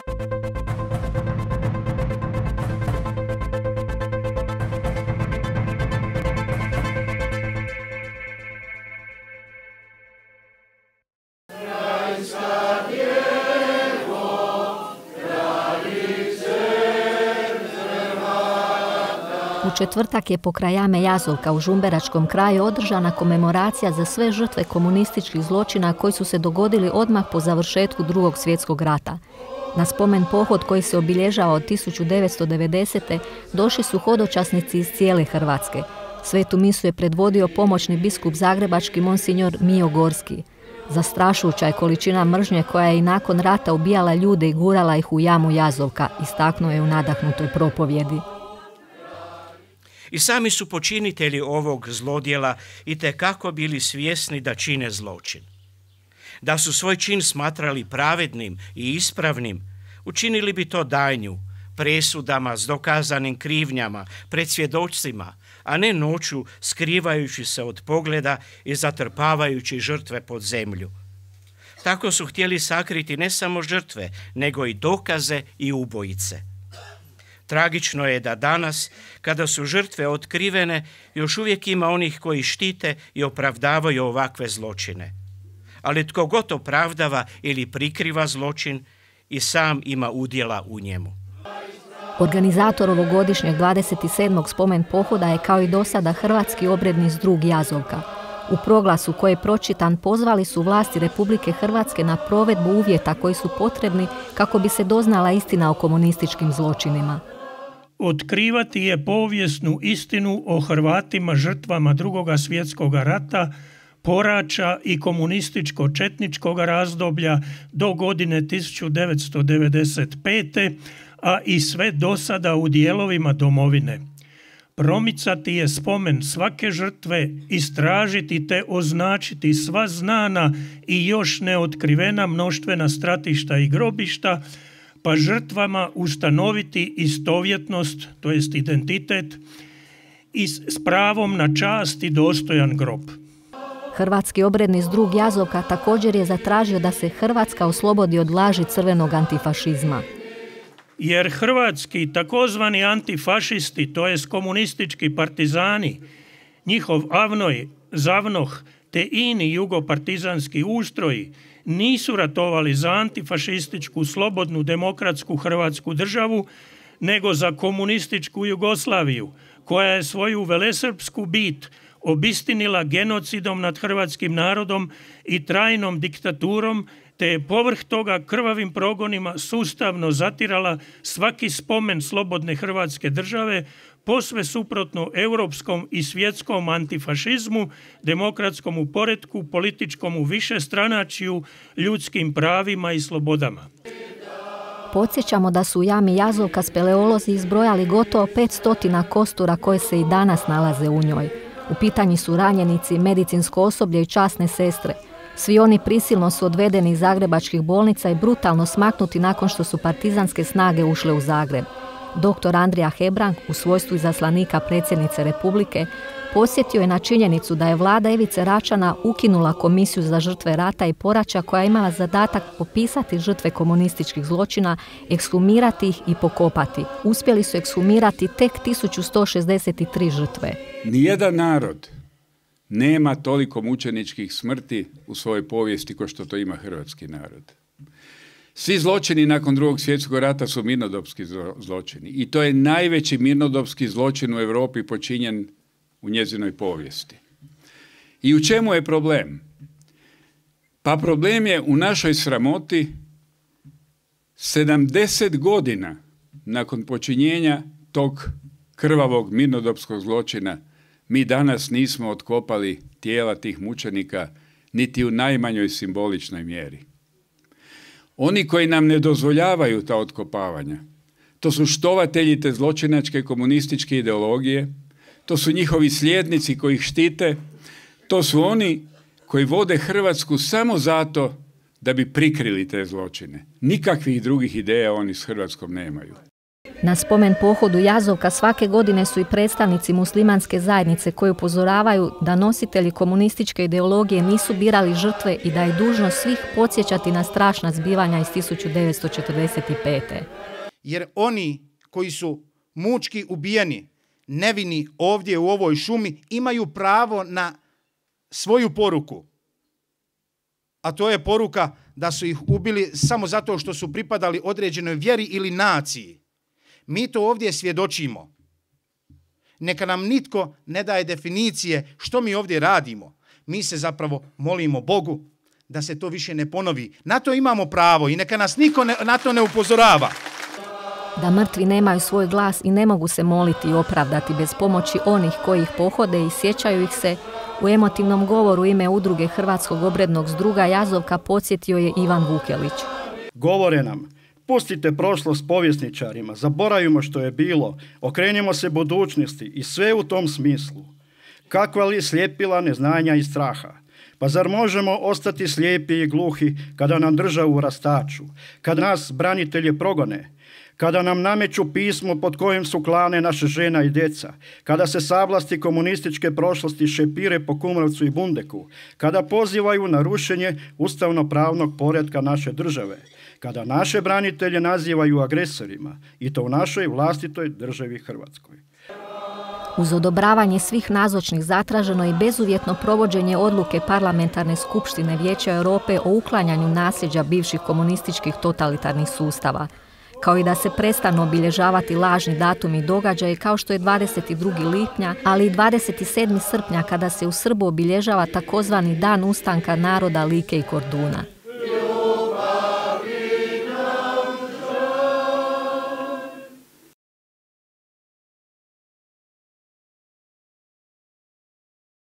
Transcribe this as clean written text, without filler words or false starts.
U četvrtak je pokraj jame Jazovka u Žumberačkom kraju održana komemoracija za sve žrtve komunističkih zločina koji su se dogodili odmah po završetku Drugog svjetskog rata. Na spomen pohod koji se obilježava od 1990. došli su hodočasnici iz cijele Hrvatske. Svetu misu je predvodio pomoćni biskup zagrebački monsinjor Mijo Gorski. Zastrašujuća je količina mržnje koja je i nakon rata ubijala ljude i gurala ih u jamu Jazovka, istaknuo je u nadahnutoj propovjedi. I sami su počinitelji ovog zlodjela itekako bili svjesni da čine zločin. Da su svoj čin smatrali pravednim i ispravnim, učinili bi to danju, presudama s dokazanim krivnjama, pred svjedocima, a ne noću skrivajući se od pogleda i zatrpavajući žrtve pod zemlju. Tako su htjeli sakriti ne samo žrtve, nego i dokaze i ubojice. Tragično je da danas, kada su žrtve otkrivene, još uvijek ima onih koji štite i opravdavaju ovakve zločine. Ali tko god opravdava ili prikriva zločin, i sam ima udjela u njemu. Organizator ovogodišnjeg 27. spomen pohoda je kao i dosada Hrvatski obredni zdrug Jazovka. U proglasu koji je pročitan pozvali su vlasti Republike Hrvatske na provedbu uvjeta koji su potrebni kako bi se doznala istina o komunističkim zločinima. Otkrivati je povijesnu istinu o Hrvatima žrtvama Drugoga svjetskog rata, porača i komunističko-četničkog razdoblja do godine 1995. a i sve dosada u dijelovima domovine. Promicati je spomen svake žrtve, istražiti te označiti sva znana i još neotkrivena mnoštvena stratišta i grobišta, pa žrtvama ustanoviti istovjetnost, to jest identitet, i s pravom na čast i dostojan grob. Hrvatski obredni zdrug Jazovka također je zatražio da se Hrvatska oslobodi od laži crvenog antifašizma. Jer hrvatski takozvani antifašisti, to jest komunistički partizani, njihov avnoj, zavnoh te ini jugopartizanski ustroji nisu ratovali za antifašističku, slobodnu, demokratsku Hrvatsku državu, nego za komunističku Jugoslaviju, koja je svoju velesrpsku bit obistinila genocidom nad hrvatskim narodom i trajnom diktaturom, te je povrh toga krvavim progonima sustavno zatirala svaki spomen slobodne Hrvatske države, posve suprotno europskom i svjetskom antifašizmu, demokratskom poretku, političkom višestranačju, ljudskim pravima i slobodama. Podsjećamo da su u jami Jazovka speleolozi izbrojali gotovo 500 kostura koje se i danas nalaze u njoj. U pitanju su ranjenici, medicinsko osoblje i časne sestre. Svi oni prisilno su odvedeni iz zagrebačkih bolnica i brutalno smaknuti nakon što su partizanske snage ušle u Zagreb. Dr. Andrija Hebrang, u svojstvu izaslanika predsjednice Republike, podsjetio je na činjenicu da je vlada Ivice Račana ukinula komisiju za žrtve rata i poračja koja je imala zadatak popisati žrtve komunističkih zločina, ekshumirati ih i pokopati. Uspjeli su ekshumirati tek 1163 žrtve. Nijedan narod nema toliko mučeničkih smrti u svojoj povijesti kao što to ima hrvatski narod. Svi zločini nakon Drugog svjetskog rata su mirnodopski zločini i to je najveći mirnodopski zločin u Europi počinjen u njezinoj povijesti. I u čemu je problem? Pa problem je u našoj sramoti 70 godina nakon počinjenja tog krvavog mirnodopskog zločina mi danas nismo otkopali tijela tih mučenika niti u najmanjoj simboličnoj mjeri. Oni koji nam ne dozvoljavaju ta otkopavanja, to su štovatelji te zločinačke komunističke ideologije, to su njihovi slijednici koji ih štite, to su oni koji vode Hrvatsku samo zato da bi prikrili te zločine. Nikakvih drugih ideja oni s Hrvatskom nemaju. Na spomen pohodu Jazovka svake godine su i predstavnici muslimanske zajednice koji upozoravaju da nositelji komunističke ideologije nisu birali žrtve i da je dužnost svih podsjećati na strašna zbivanja iz 1945. Jer oni koji su mučki ubijeni, nevini ovdje u ovoj šumi, imaju pravo na svoju poruku. A to je poruka da su ih ubili samo zato što su pripadali određenoj vjeri ili naciji. Mi to ovdje svjedočimo. Neka nam nitko ne daje definicije što mi ovdje radimo. Mi se zapravo molimo Bogu da se to više ne ponovi. Na to imamo pravo i neka nas niko na to ne upozorava. Da mrtvi nemaju svoj glas i ne mogu se moliti i opravdati bez pomoći onih koji ih pohode i sjećaju ih se, u emotivnom govoru ime udruge Hrvatskog obrednog zdruga Jazovka podsjetio je Ivan Vukelić. Govore nam, pustite prošlost povjesničarima, zaboravimo što je bilo, okrenimo se budućnosti i sve u tom smislu. Kakva li slijepila neznanja i straha? Pa zar možemo ostati slijepi i gluhi kada nam državu rastaču, kad nas branitelje progone, kada nam nameću pismo pod kojim su klane naše žena i djeca, kada se sablasti komunističke prošlosti šepire po Kumrovcu i Bundeku, kada pozivaju na rušenje ustavno-pravnog poretka naše države, kada naše branitelje nazivaju agresorima i to u našoj vlastitoj državi Hrvatskoj. Uz odobravanje svih nazočnih zatraženo i bezuvjetno provođenje odluke Parlamentarne skupštine Vijeća Europe o uklanjanju nasljeđa bivših komunističkih totalitarnih sustava, kao i da se prestanu obilježavati lažni datumi i događaji kao što je 22. lipnja, ali i 27. srpnja kada se u Srbu obilježava takozvani Dan ustanka naroda Like i Korduna.